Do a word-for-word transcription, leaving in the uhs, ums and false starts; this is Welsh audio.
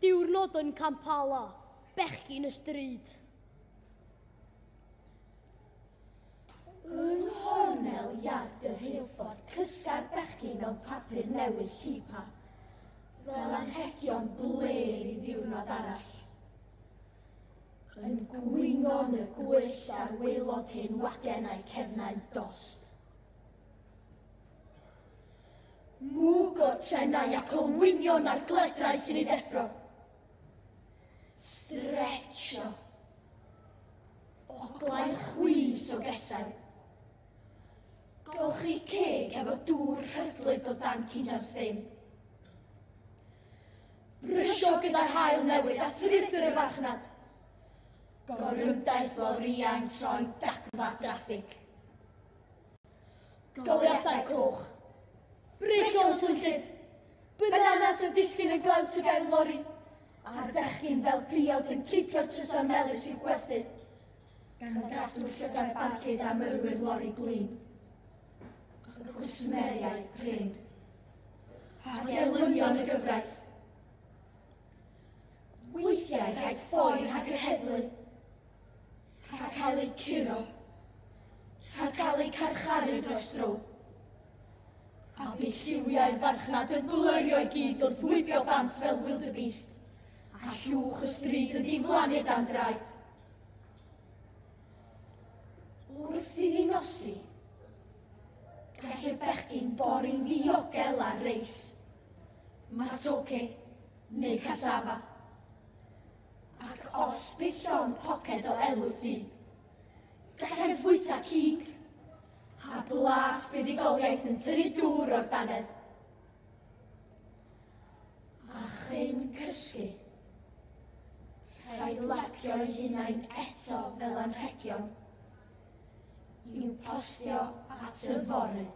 Diwrnod yn Kampala, bechgyn y stryd. Yng nghornel iard y rheilffordd cysga'r bechgyn mewn papur newydd llipa, fel anrhegion blêr i ddiwrnod arall. Yn gwingo'n y gwyllt ar waelod hen wagen a'u cefnau'n dost. Mwg o'r trenau ac olwynion ar gledrau sy'n ei deffro. Stretcho. Oglau chwys o gesau. Golchi ceg efo dŵr rhydlyd o dan cinjan ddim. Brysio gyda'r haul newydd at ruthr y farchnad. Gorymdaith lorïau'n troi'n dagfa draffig. Goleuadau coch. Breigion swnllyd. Bananas yn disgyn yn glawt o gefn lori. A'r bechgyn fel piawd yn cipio'r trysor melys i'w gwerthu. Gan gadw llygad barcud am yrwyr lori blin. Y cwsmeriaid prin. A gelynion y gyfraith. Weithiau rhaid ffoi rhag yr heddlu. Rhag cael eu curo. Rhag cael eu carcharu dros dro. A bu lliwiau'r farchnad yn blyrio i gyd wrth wibio bant fel wildebeest. A llwch y stryd yn diflannu dan draed. Wrth iddi nosi, gall y bechgyn bori'n ddiogel ar reis, matoke neu cassava. Ac os bydd llond poced o elw'r dydd, gallent fwyta cig, a blas buddugoliaeth yn tynnu dŵr o'r dannedd. A chyn cysgu, rhaid lapio'u hunain eto fel anrhegion, i'w postio at yfory.